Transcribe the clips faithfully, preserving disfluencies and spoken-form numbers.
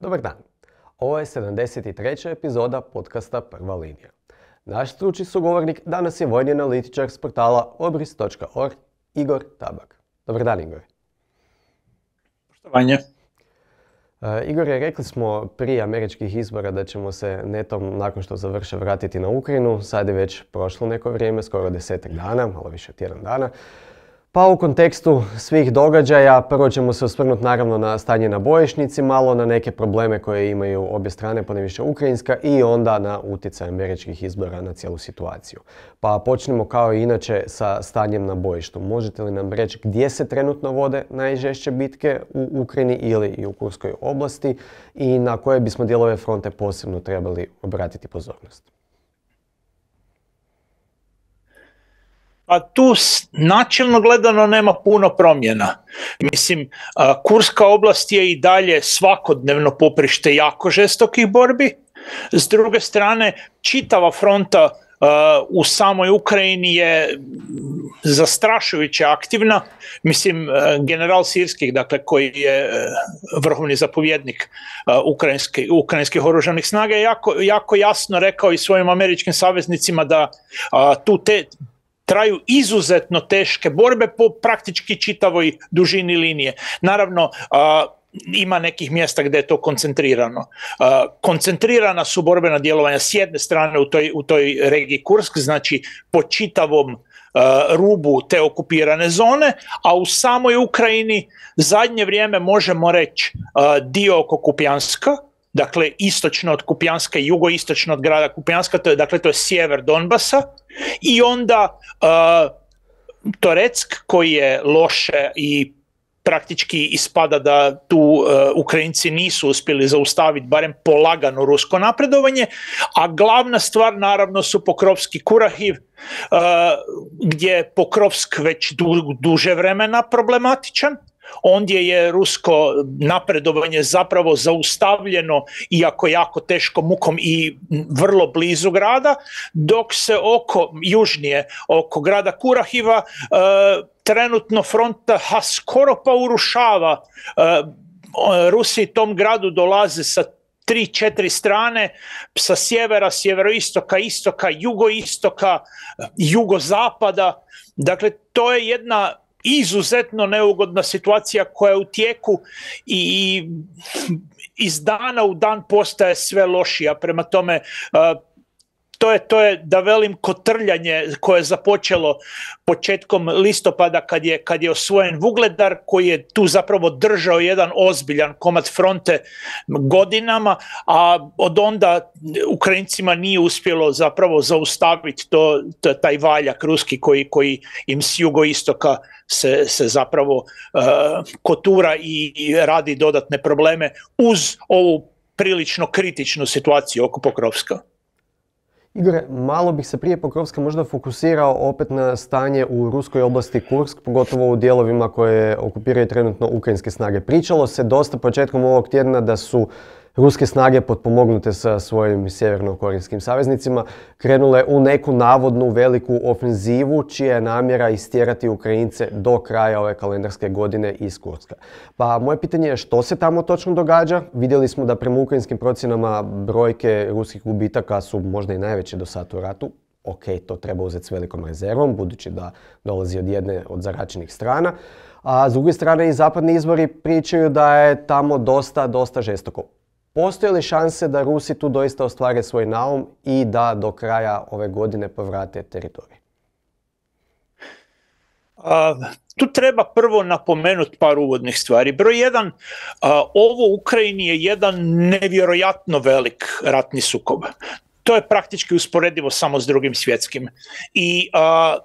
Dobar dan. Ovo je sedamdeset treća epizoda podcasta Prva linija. Naš stručni sugovornik danas je vojni analitičar s portala obris točka org Igor Tabak. Dobar dan, Igor. Poštovanje. Uh, Igore, rekli smo prije američkih izbora da ćemo se netom nakon što završe vratiti na Ukrajinu. Sad je već prošlo neko vrijeme, skoro desetak dana, malo više od tjedan dana. Pa u kontekstu svih događaja prvo ćemo se osvrnuti naravno na stanje na bojišnici, malo na neke probleme koje imaju obje strane, ponajviše ukrajinska, i onda na utjecaj američkih izbora na cijelu situaciju. Pa počnemo kao i inače sa stanjem na bojištu. Možete li nam reći gdje se trenutno vode najžešće bitke u Ukrajini ili i u Kurskoj oblasti i na koje bismo dijelove fronte posebno trebali obratiti pozornost? A tu načelno gledano nema puno promjena. Mislim, Kurska oblast je i dalje svakodnevno poprište jako žestokih borbi. S druge strane, čitava fronta u samoj Ukrajini je zastrašujuće aktivna. Mislim, general Sirskih, dakle, koji je vrhovni zapovjednik ukrajinskih, ukrajinskih oružanih snaga, je jako, jako jasno rekao i svojim američkim saveznicima da tu te traju izuzetno teške borbe po praktički čitavoj dužini linije. Naravno, a, ima nekih mjesta gdje je to koncentrirano. A, koncentrirana su borbena djelovanja s jedne strane u toj, u toj regiji Kursk, znači po čitavom a, rubu te okupirane zone, a u samoj Ukrajini zadnje vrijeme možemo reći a, dio oko Kupjanska, dakle istočno od Kupjanska i jugoistočno od grada Kupjanska, to je, dakle to je sjever Donbasa, i onda uh, Toreck, koji je loše i praktički ispada da tu uh, Ukrajinci nisu uspjeli zaustaviti barem polagano rusko napredovanje, a glavna stvar naravno su Pokrovski Kurahiv, uh, gdje je Pokrovsk već du, duže vremena problematičan. Ondje je rusko napredovanje zapravo zaustavljeno, iako jako teškom mukom i vrlo blizu grada, dok se oko, južnije, oko grada Kurahiva, e, trenutno fronta ha skoro pa urušava. E, Rusi tom gradu dolaze sa tri, četiri strane, sa sjevera, sjeveroistoka, istoka, jugoistoka, jugozapada. Dakle, to je jedna izuzetno neugodna situacija koja je u tijeku i iz dana u dan postaje sve lošija. Prema tome, to je, to je da velim kotrljanje koje je započelo početkom listopada kad je, kad je osvojen Vugledar, koji je tu zapravo držao jedan ozbiljan komad fronte godinama, a od onda Ukrajincima nije uspjelo zapravo zaustaviti to, to, taj valjak ruski koji, koji im s jugoistoka se, se zapravo uh, kotura i, i radi dodatne probleme uz ovu prilično kritičnu situaciju oko Pokrovska. Igore, malo bih se prije Pokrovska možda fokusirao opet na stanje u ruskoj oblasti Kursk, pogotovo u dijelovima koje okupiraju trenutno ukrajinske snage. Pričalo se dosta početkom ovog tjedna da su ruske snage potpomognute sa svojim sjeverno-korejskim saveznicima krenule u neku navodnu veliku ofenzivu čija je namjera istjerati Ukrajince do kraja ove kalendarske godine iz Kurska. Pa moje pitanje je što se tamo točno događa? Vidjeli smo da prema ukrajinskim procjenama brojke ruskih gubitaka su možda i najveće do sad u ratu. Ok, to treba uzeti s velikom rezervom, budući da dolazi od jedne od zaračenih strana. A s druge strane i zapadni izvori pričaju da je tamo dosta, dosta žestoko. Postoje li šanse da Rusi tu doista ostvare svoj naum i da do kraja ove godine povrate teritorij? A, tu treba prvo napomenuti par uvodnih stvari. Broj jedan, a, ovo u Ukrajini je jedan nevjerojatno velik ratni sukob. To je praktički usporedivo samo s Drugim svjetskim. I a,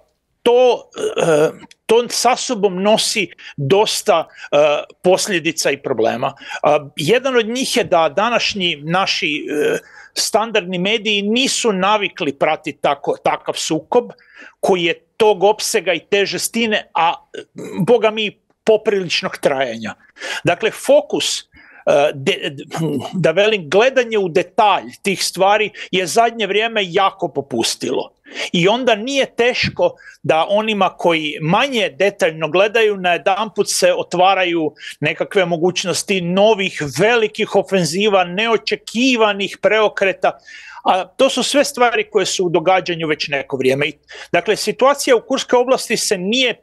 to, a, to sa sobom nosi dosta uh, posljedica i problema. Uh, jedan od njih je da današnji naši uh, standardni mediji nisu navikli pratiti tako, takav sukob koji je tog opsega i te žestine, a boga mi popriličnog trajanja. Dakle, fokus, uh, de, da velim, gledanje u detalj tih stvari je zadnje vrijeme jako popustilo. I onda nije teško da onima koji manje detaljno gledaju najedanput se otvaraju nekakve mogućnosti novih velikih ofenziva, neočekivanih preokreta, a to su sve stvari koje su u događanju već neko vrijeme. Dakle, situacija u Kurskoj oblasti se nije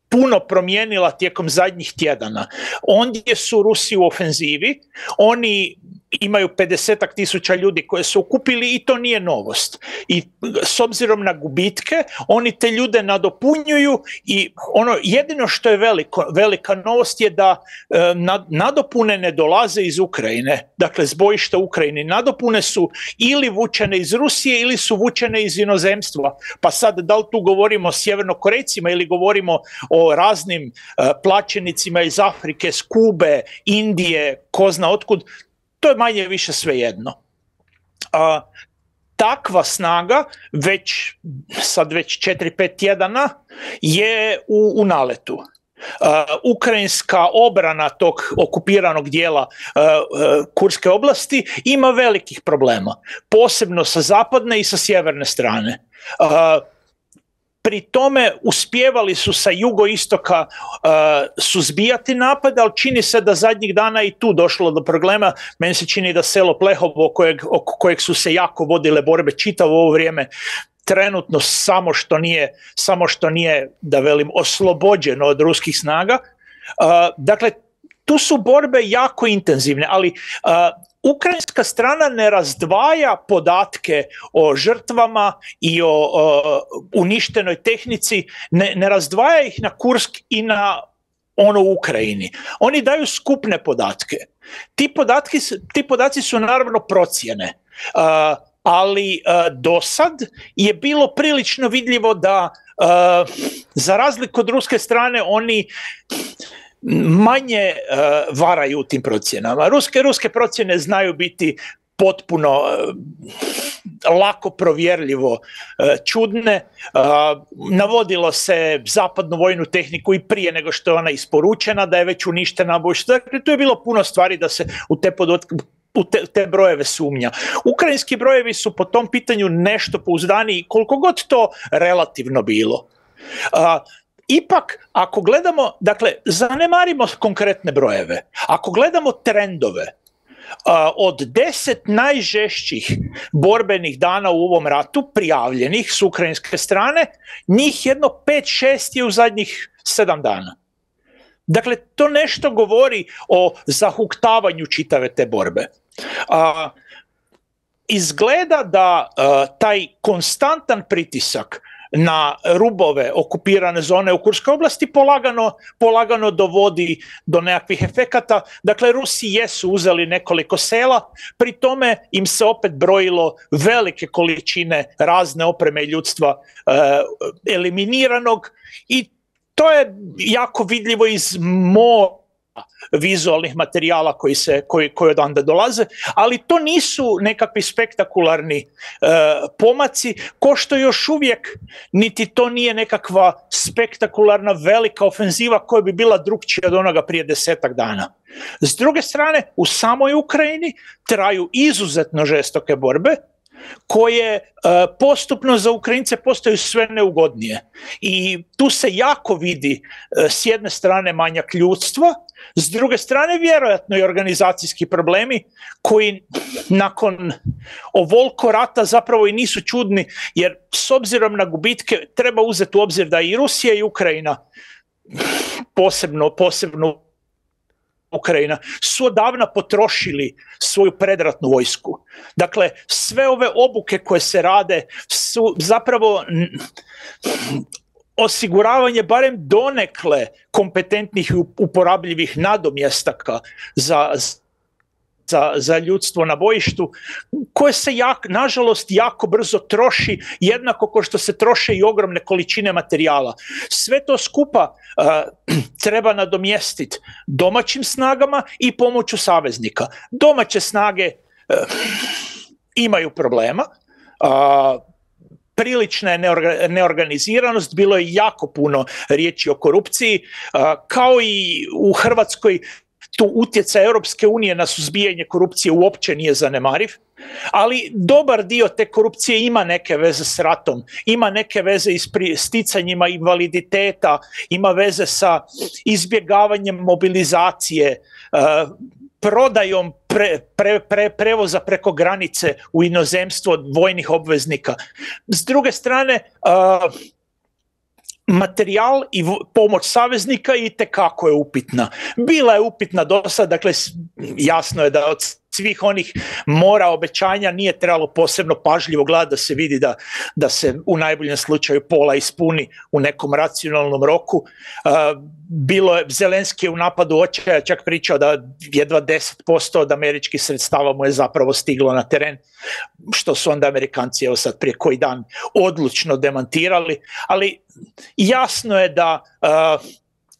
puno promijenila tijekom zadnjih tjedana. Ondje su Rusi u ofenzivi, oni imaju pedesetak tisuća ljudi koje su okupili i to nije novost. I s obzirom na gubitke, oni te ljude nadopunjuju i ono jedino što je veliko, velika novost je da e, nadopune ne dolaze iz Ukrajine. Dakle, s bojišta Ukrajine. Nadopune su ili vučene iz Rusije ili su vučene iz inozemstva. Pa sad, da li tu govorimo o Sjevernokorejcima ili govorimo o raznim e, plaćenicima iz Afrike, s Kube, Indije, ko zna otkud, to je manje više svejedno. A, takva snaga već, sad već četiri pet tjedana je u, u naletu. Uh, ukrajinska obrana tog okupiranog dijela uh, uh, Kurske oblasti ima velikih problema, posebno sa zapadne i sa sjeverne strane. Uh, Pri tome uspijevali su sa jugoistoka uh, suzbijati napade, ali čini se da zadnjih dana i tu došlo do problema. Meni se čini da selo Plehovo, kojeg, oko kojeg su se jako vodile borbe čitavo ovo vrijeme, trenutno samo što nije, samo što nije, da velim, oslobođeno od ruskih snaga. Uh, dakle, tu su borbe jako intenzivne, ali uh, ukrajinska strana ne razdvaja podatke o žrtvama i o, o uništenoj tehnici, ne, ne razdvaja ih na Kursk i na ono u Ukrajini. Oni daju skupne podatke. Ti, podatki, ti podaci su naravno procjene, uh, ali uh, do sad je bilo prilično vidljivo da uh, za razliku od ruske strane oni manje uh, varaju u tim procjenama. Ruske, ruske procjene znaju biti potpuno uh, lako provjerljivo uh, čudne. Uh, navodilo se zapadnu vojnu tehniku i prije nego što je ona isporučena, da je već uništena. Dakle, tu je bilo puno stvari da se u te podatke u te, te brojeve sumnja. Ukrajinski brojevi su po tom pitanju nešto pouzdaniji, koliko god to relativno bilo. Uh, Ipak, ako gledamo, dakle, zanemarimo konkretne brojeve, ako gledamo trendove, uh, od deset najžešćih borbenih dana u ovom ratu, prijavljenih s ukrajinske strane, njih jedno pet šest je u zadnjih sedam dana. Dakle, to nešto govori o zahuktavanju čitave te borbe. Uh, izgleda da uh, taj konstantan pritisak na rubove okupirane zone u Kurskoj oblasti polagano, polagano dovodi do nekakvih efekata. Dakle, Rusi jesu uzeli nekoliko sela, pri tome im se opet brojilo velike količine razne opreme i ljudstva eh, eliminiranog i to je jako vidljivo iz mora vizualnih materijala koji, se, koji, koji odande dolaze, ali to nisu nekakvi spektakularni e, pomaci, ko što još uvijek niti to nije nekakva spektakularna velika ofenziva koja bi bila drukčija od onoga prije desetak dana. S druge strane, u samoj Ukrajini traju izuzetno žestoke borbe, koje e, postupno za Ukrajince postaju sve neugodnije. I tu se jako vidi e, s jedne strane manjak ljudstva, s druge strane vjerojatno i organizacijski problemi koji nakon ovoliko rata zapravo i nisu čudni, jer s obzirom na gubitke treba uzeti u obzir da i Rusija i Ukrajina, posebno, posebno Ukrajina, su odavna potrošili svoju predratnu vojsku. Dakle, sve ove obuke koje se rade su zapravo osiguravanje barem donekle kompetentnih i uporabljivih nadomjestaka za, za, za ljudstvo na bojištu, koje se jak, nažalost jako brzo troši, jednako kao što se troše i ogromne količine materijala. Sve to skupa uh, treba nadomjestiti domaćim snagama i pomoću saveznika. Domaće snage uh, imaju problema, uh, prilična je neorganiziranost, bilo je jako puno riječi o korupciji, kao i u Hrvatskoj tu utjecaj Europske unije na suzbijanje korupcije uopće nije zanemariv, ali dobar dio te korupcije ima neke veze s ratom, ima neke veze i s sticanjima invaliditeta, ima veze sa izbjegavanjem mobilizacije, uh, prodajom pre, pre, pre, prevoza preko granice u inozemstvo vojnih obveznika. S druge strane, uh, materijal i pomoć saveznika itekako je upitna. Bila je upitna do sad, dakle jasno je da od svih onih mora obećanja nije trebalo posebno pažljivo gledati da se vidi da, da se u najboljem slučaju pola ispuni u nekom racionalnom roku. Uh, bilo je, Zelenski je u napadu očaja čak pričao da jedva deset posto od američkih sredstava mu je zapravo stiglo na teren, što su onda Amerikanci evo sad prije koji dan odlučno demantirali, ali jasno je da uh,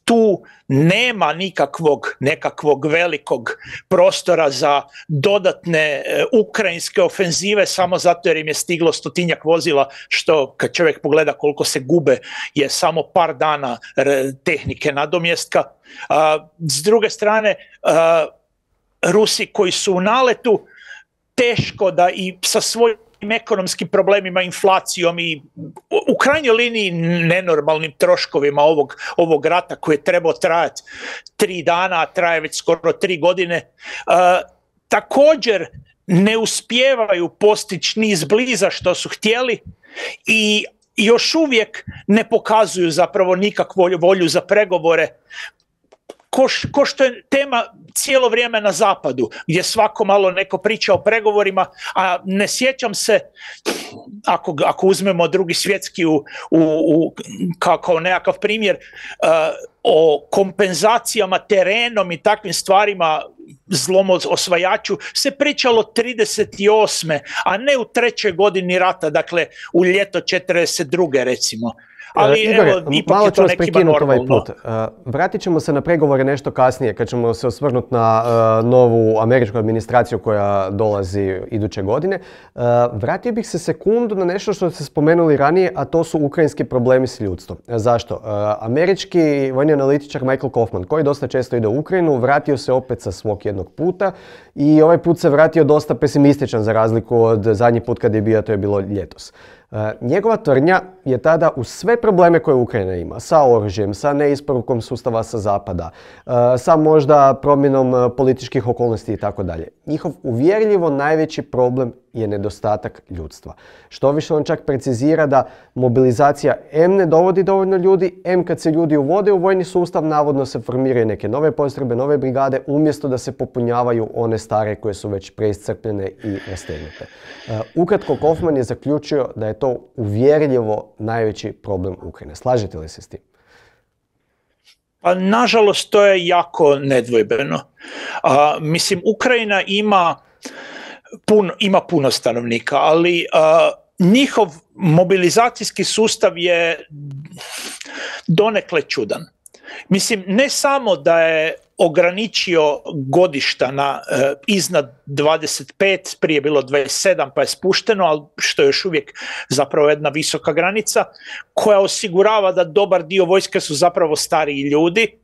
tu nema nikakvog nekakvog velikog prostora za dodatne uh, ukrajinske ofenzive samo zato jer im je stiglo stotinjak vozila, što kad čovjek pogleda koliko se gube je samo par dana r- tehnike nadomjestka. Uh, s druge strane, uh, Rusi koji su u naletu, teško da i sa svojim ekonomskim problemima, inflacijom i u krajnjoj liniji nenormalnim troškovima ovog, ovog rata koji je trebao trajati tri dana, a traje već skoro tri godine, uh, također ne uspijevaju postići ni izbliza što su htjeli i još uvijek ne pokazuju zapravo nikakvu volju za pregovore, ko, ko što je tema cijelo vrijeme na zapadu, gdje svako malo neko priča o pregovorima, a ne sjećam se, ako, ako uzmemo drugi svjetski u, u, u, kao, kao nekakav primjer, uh, o kompenzacijama terenom i takvim stvarima, zlom osvajaču, se pričalo trideset osme a ne u trećoj godini rata, dakle u ljeto četrdeset druge recimo. Ali Igore, evo, ipak malo je ću to vas nekima prekinuti ovaj normalno. put. Uh, vratit ćemo se na pregovore nešto kasnije, kad ćemo se osvrnuti na uh, novu američku administraciju koja dolazi iduće godine. Uh, vratio bih se sekundu na nešto što ste spomenuli ranije, a to su ukrajinski problemi s ljudstvom. Zašto? Uh, američki vojni analitičar Michael Kaufman, koji dosta često ide u Ukrajinu, vratio se opet sa svog jednog puta i ovaj put se vratio dosta pesimističan za razliku od zadnji put kad je bio, to je bilo ljetos. Uh, njegova tvrdnja je tada uz sve probleme koje Ukrajina ima, sa oružjem, sa neisporukom sustava sa zapada, uh, sa možda promjenom uh, političkih okolnosti i tako dalje. Njihov uvjerljivo najveći problem je nedostatak ljudstva. Što više on čak precizira da mobilizacija em ne dovodi dovoljno ljudi, em kad se ljudi uvode u vojni sustav, navodno se formiraju neke nove postrojbe, nove brigade, umjesto da se popunjavaju one stare koje su već preiscrpljene i rastegnute. Uh, ukratko, Kaufman je zaključio da je to uvjerljivo najveći problem Ukrajine. Slažete li se s tim? Pa nažalost to je jako nedvojbeno. Uh, mislim, Ukrajina ima puno, ima puno stanovnika, ali uh, njihov mobilizacijski sustav je donekle čudan. Mislim, ne samo da je ograničio godišta na uh, iznad dvadeset pet, prije bilo dvadeset sedam pa je spušteno, ali što je još uvijek zapravo jedna visoka granica koja osigurava da dobar dio vojske su zapravo stariji ljudi,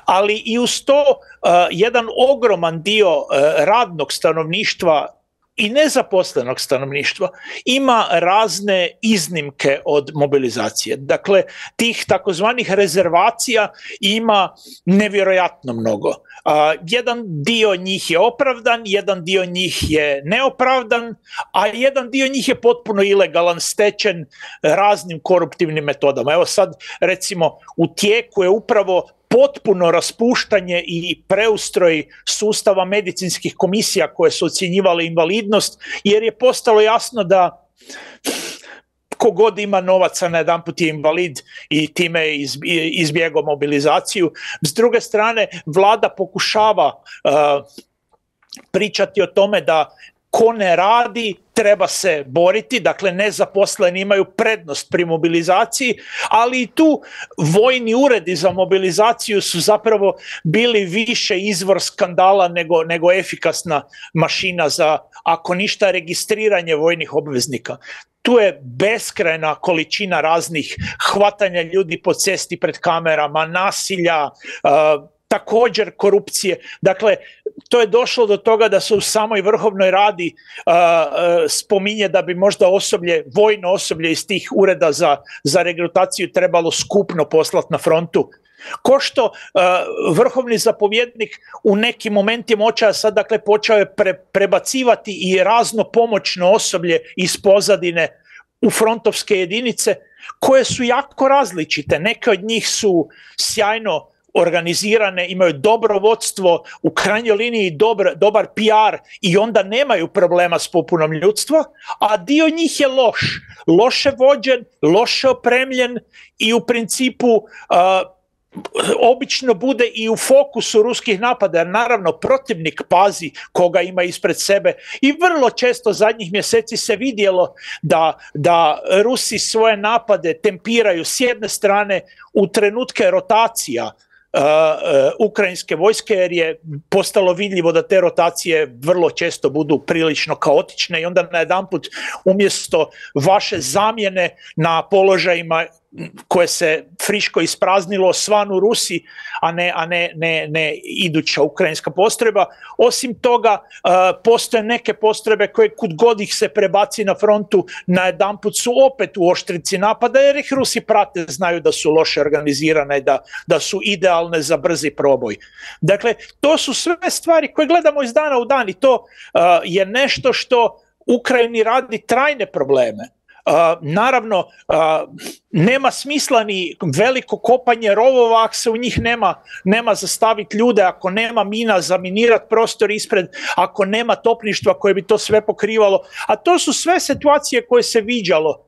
ali i uz to uh, jedan ogroman dio uh, radnog stanovništva i nezaposlenog stanovništva ima razne iznimke od mobilizacije. Dakle, tih takozvanih rezervacija ima nevjerojatno mnogo. Uh, jedan dio njih je opravdan, jedan dio njih je neopravdan, a jedan dio njih je potpuno ilegalan, stečen raznim koruptivnim metodama. Evo sad, recimo, u tijeku je upravo potpuno raspuštanje i preustroj sustava medicinskih komisija koje su ocjenjivale invalidnost, jer je postalo jasno da kogod ima novaca na jedanput je invalid i time je izbjegao mobilizaciju. S druge strane, vlada pokušava uh, pričati o tome da ko ne radi, treba se boriti, dakle nezaposleni imaju prednost pri mobilizaciji, ali i tu vojni uredi za mobilizaciju su zapravo bili više izvor skandala nego, nego efikasna mašina za, ako ništa, registriranje vojnih obveznika. Tu je beskrajna količina raznih hvatanja ljudi po cesti pred kamerama, nasilja, uh, također korupcije. Dakle, to je došlo do toga da se u samoj Vrhovnoj radi uh, uh, spominje da bi možda osoblje, vojno osoblje iz tih ureda za, za regrutaciju trebalo skupno poslati na frontu. Ko što uh, vrhovni zapovjednik u nekim momentima očaja sad dakle počeo je pre, prebacivati i razno pomoćno osoblje iz pozadine u frontovske jedinice koje su jako različite. Neke od njih su sjajno organizirane, imaju dobro vodstvo, u krajnjoj liniji dobar, dobar P R i onda nemaju problema s popunom ljudstva, a dio njih je loš, loše vođen, loše opremljen i u principu uh, obično bude i u fokusu ruskih napada, jer naravno protivnik pazi koga ima ispred sebe i vrlo često zadnjih mjeseci se vidjelo da, da Rusi svoje napade tempiraju s jedne strane u trenutke rotacija Uh, uh, ukrajinske vojske, jer je postalo vidljivo da te rotacije vrlo često budu prilično kaotične i onda najedanput umjesto vaše zamjene na položajima koje se friško ispraznilo svanu Rusi, a ne, a ne, ne, ne iduća ukrajinska postrojba. Osim toga, uh, postoje neke postrojbe koje kud god ih se prebaci na frontu, najedanput su opet u oštrici napada, jer ih Rusi prate, znaju da su loše organizirane i da, da su idealne za brzi proboj. Dakle, to su sve stvari koje gledamo iz dana u dan i to uh, je nešto što Ukrajini radi trajne probleme. Uh, naravno, uh, nema smisla ni veliko kopanje rovova ako se u njih nema, nema zastaviti ljude, ako nema mina zaminirati prostor ispred, ako nema topništva koje bi to sve pokrivalo. A to su sve situacije koje se viđalo.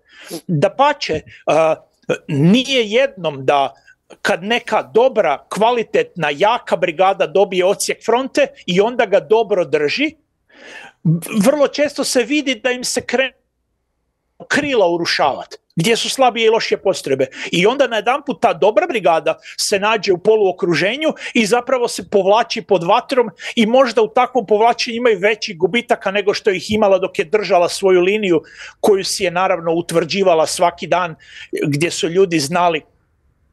Dapače, uh, nije jednom da kad neka dobra, kvalitetna, jaka brigada dobije odsjek fronte i onda ga dobro drži, vrlo često se vidi da im se krene krila urušavati, gdje su slabije i lošije postrojbe. I onda najedanput ta dobra brigada se nađe u poluokruženju i zapravo se povlači pod vatrom i možda u takvom povlačenju imaju veći gubitaka nego što ih imala dok je držala svoju liniju koju si je naravno utvrđivala svaki dan, gdje su ljudi znali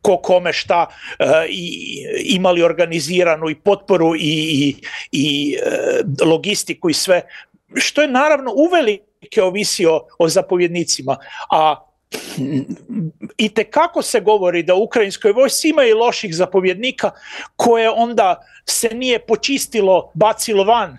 ko kome šta uh, i imali organiziranu i potporu i, i, i uh, logistiku i sve, što je naravno uveliko ovisi o, o zapovjednicima, a itekako se govori da u ukrajinskoj vojsci ima i loših zapovjednika koje onda se nije počistilo, bacilo van, e,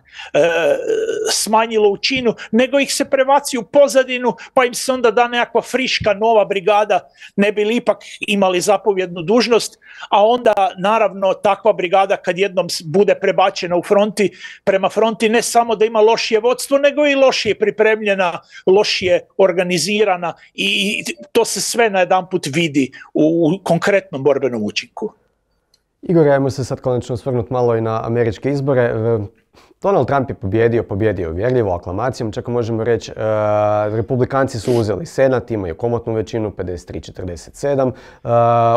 smanjilo u činu, nego ih se prebaci u pozadinu, pa im se onda da nekakva friška nova brigada, ne bi li ipak imali zapovjednu dužnost, a onda naravno takva brigada kad jednom bude prebačena u fronti, prema fronti ne samo da ima lošije vodstvo, nego i lošije pripremljena, lošije organizirana i to se sve najedanput vidi u, u konkretnom borbenom učinku. Igor, ajmo se sad konačno osvrnuti malo i na američke izbore. Donald Trump je pobjedio, pobjedio uvjerljivo aklamacijom, čak možemo reći, e, republikanci su uzeli senat, imaju komotnu većinu, pedeset tri četrdeset sedam, e,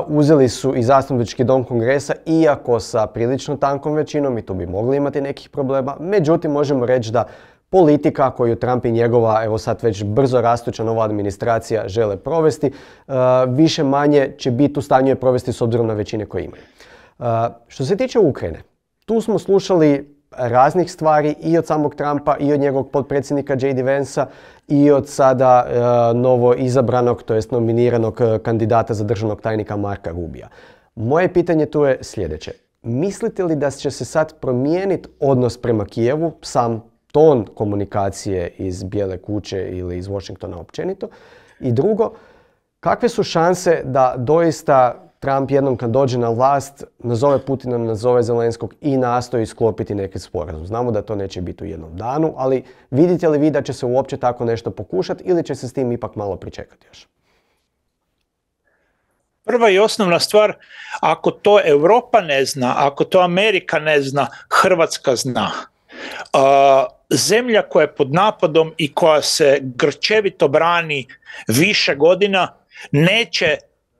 uzeli su i zastupnički dom kongresa, iako sa prilično tankom većinom, i tu bi mogli imati nekih problema, međutim možemo reći da politika koju Trump i njegova, evo sad već brzo rastuća nova administracija žele provesti, e, više manje će biti u stanju je provesti s obzirom na većine koje imaju. Uh, što se tiče Ukrajine, tu smo slušali raznih stvari i od samog Trumpa i od njegovog potpredsjednika J D Vansa i od sada uh, novo izabranog, to jest nominiranog uh, kandidata za državnog tajnika Marka Rubija. Moje pitanje tu je sljedeće. Mislite li da će se sad promijeniti odnos prema Kijevu, sam ton komunikacije iz Bijele kuće ili iz Washingtona općenito? I drugo, kakve su šanse da doista Trump jednom kad dođe na vlast nazove Putina, nazove Zelenskog i nastoji sklopiti neki sporazum? Znamo da to neće biti u jednom danu, ali vidite li vi da će se uopće tako nešto pokušati ili će se s tim ipak malo pričekati još? Prva i osnovna stvar, ako to Europa ne zna, ako to Amerika ne zna, Hrvatska zna. Uh, zemlja koja je pod napadom i koja se grčevito brani više godina neće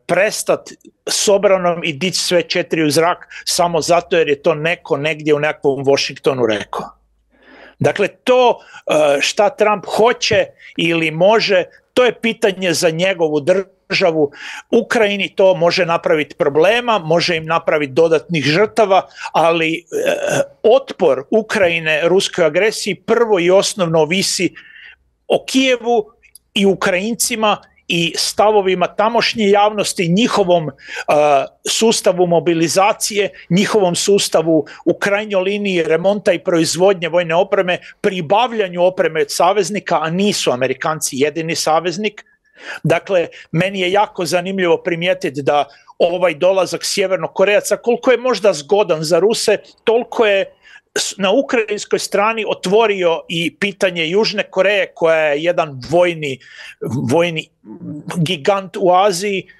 prestati s obranom i dići sve četiri u zrak samo zato jer je to neko negdje u nekakvom Washingtonu rekao. Dakle, to šta Trump hoće ili može, to je pitanje za njegovu državu. Ukrajini to može napraviti problema, može im napraviti dodatnih žrtava, ali e, otpor Ukrajine ruskoj agresiji prvo i osnovno ovisi o Kijevu i Ukrajincima i stavovima tamošnje javnosti, njihovom uh, sustavu mobilizacije, njihovom sustavu u krajnjoj liniji remonta i proizvodnje vojne opreme, pribavljanju opreme od saveznika, a nisu Amerikanci jedini saveznik. Dakle, meni je jako zanimljivo primijetiti da ovaj dolazak Sjevernokorejaca, koliko je možda zgodan za Ruse, toliko je na ukrajinskoj strani otvorio i pitanje Južne Koreje, koja je jedan vojni, vojni gigant u Aziji uh,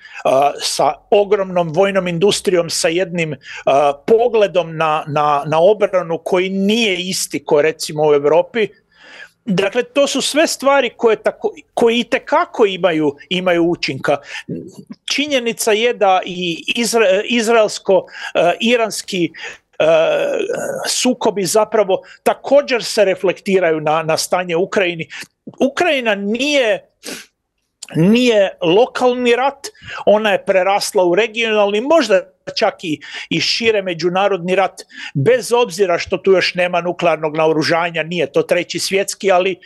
sa ogromnom vojnom industrijom, sa jednim uh, pogledom na, na, na obranu koji nije isti ko recimo u Europi. Dakle, to su sve stvari koje, tako, koje itekako imaju, imaju učinka. Činjenica je da i izra, izraelsko-iranski Uh, sukobi zapravo također se reflektiraju na, na stanje u Ukrajini. Ukrajina nije, nije lokalni rat, ona je prerasla u regionalni, možda čak i, i šire međunarodni rat, bez obzira što tu još nema nuklearnog naoružanja, nije to treći svjetski, ali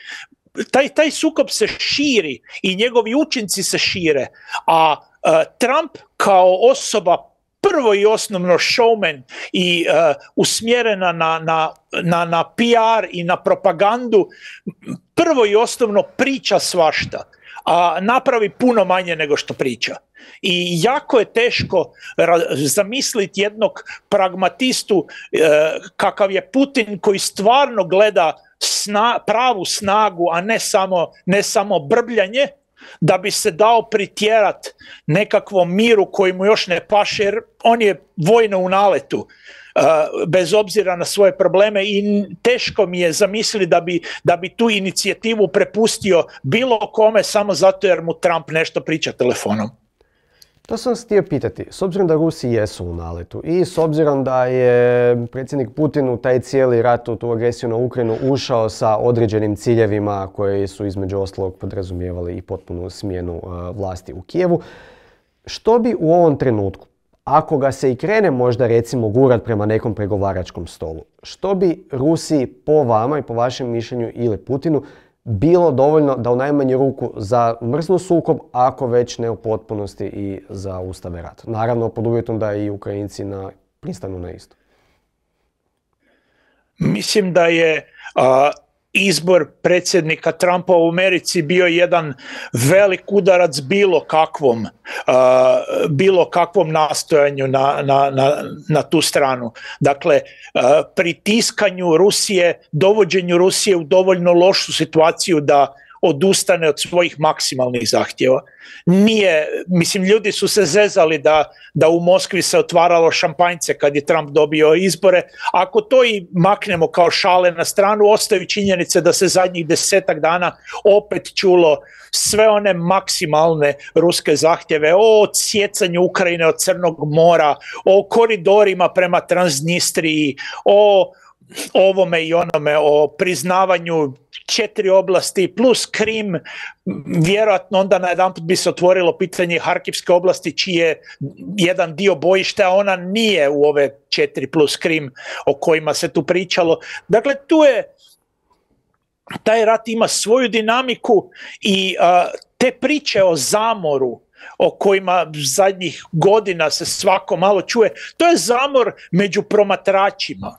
taj, taj sukob se širi i njegovi učinci se šire, a uh, Trump kao osoba prvo i osnovno showman i uh, usmjerena na, na, na, na P R i na propagandu, prvo i osnovno priča svašta, a napravi puno manje nego što priča. I jako je teško zamisliti jednog pragmatistu uh, kakav je Putin, koji stvarno gleda sna, pravu snagu, a ne samo, ne samo brbljanje, da bi se dao pritjerat nekakvom miru koji mu još ne paše, jer on je vojno u naletu, uh, bez obzira na svoje probleme, i teško mi je zamisliti da bi, da bi tu inicijativu prepustio bilo kome samo zato jer mu Trump nešto priča telefonom. To sam vas htio pitati, s obzirom da Rusi jesu u naletu i s obzirom da je predsjednik Putin u taj cijeli rat, u tu agresiju na Ukrajinu ušao sa određenim ciljevima koji su između ostalog podrazumijevali i potpunu smjenu uh, vlasti u Kijevu, što bi u ovom trenutku, ako ga se i krene možda recimo gurat prema nekom pregovaračkom stolu, što bi Rusiji po vama i po vašem mišljenju ili Putinu bilo dovoljno da u najmanju ruku zamrznu sukob, ako već ne u potpunosti i zaustave rat? Naravno, pod uvjetom da i Ukrajinci na, pristanu na isto. Mislim da je a, izbor predsjednika Trumpa u Americi bio jedan velik udarac bilo kakvom, a, bilo kakvom nastojanju na, na, na, na tu stranu. Dakle, a, pritiskanju Rusije, dovođenju Rusije u dovoljno lošu situaciju da odustane od svojih maksimalnih zahtjeva. Nije, mislim, ljudi su se zezali da, da u Moskvi se otvaralo šampanjce kad je Trump dobio izbore. Ako to i maknemo kao šale na stranu, ostaju činjenice da se zadnjih desetak dana opet čulo sve one maksimalne ruske zahtjeve o odsjecanju Ukrajine od Crnog mora, o koridorima prema Transnistriji, o ovome i onome, o priznavanju četiri oblasti plus Krim. Vjerojatno onda najedanput bi se otvorilo pitanje Harkivske oblasti, čiji je jedan dio bojišta, a ona nije u ove četiri plus Krim o kojima se tu pričalo. Dakle, tu je, taj rat ima svoju dinamiku i uh, te priče o zamoru o kojima zadnjih godina se svako malo čuje, to je zamor među promatračima.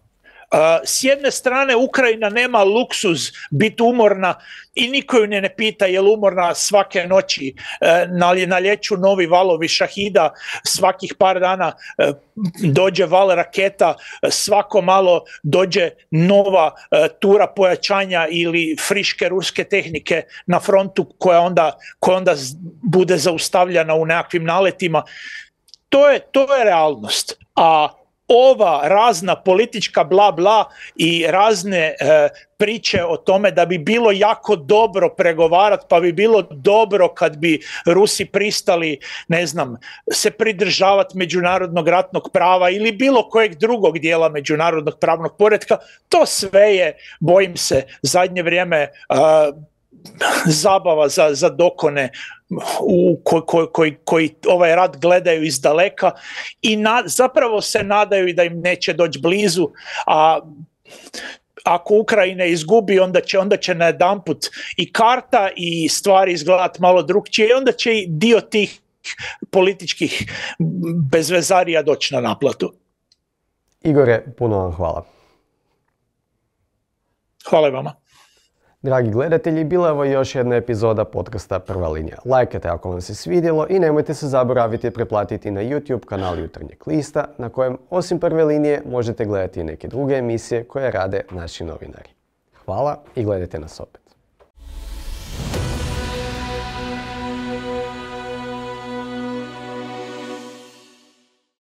Uh, s jedne strane Ukrajina nema luksuz biti umorna i niko ju ne, ne pita je li umorna svake noći, uh, na, na lječu novi valovi šahida, svakih par dana uh, dođe val raketa, uh, svako malo dođe nova uh, tura pojačanja ili friške ruske tehnike na frontu koja onda, koja onda bude zaustavljana u nekakvim naletima. To je, to je realnost. A ova razna politička bla bla i razne e, priče o tome da bi bilo jako dobro pregovarati, pa bi bilo dobro kad bi Rusi pristali, ne znam, se pridržavati međunarodnog ratnog prava ili bilo kojeg drugog dijela međunarodnog pravnog poretka, to sve je, bojim se, zadnje vrijeme uh, zabava za, za dokone u ko, ko, koji, koji ovaj rat gledaju iz daleka i na, zapravo se nadaju da im neće doći blizu, a ako Ukrajina izgubi, onda će, onda će najedanput i karta i stvari izgledati malo drukčije i onda će i dio tih političkih bezvezarija doći na naplatu. Igore, puno vam hvala. Hvala i vama. Dragi gledatelji, bila je ovo još jedna epizoda podcasta Prva linija. Lajkajte ako vam se svidjelo i nemojte se zaboraviti preplatiti na YouTube kanal Jutarnjeg lista, na kojem osim Prve linije možete gledati i neke druge emisije koje rade naši novinari. Hvala i gledajte nas opet.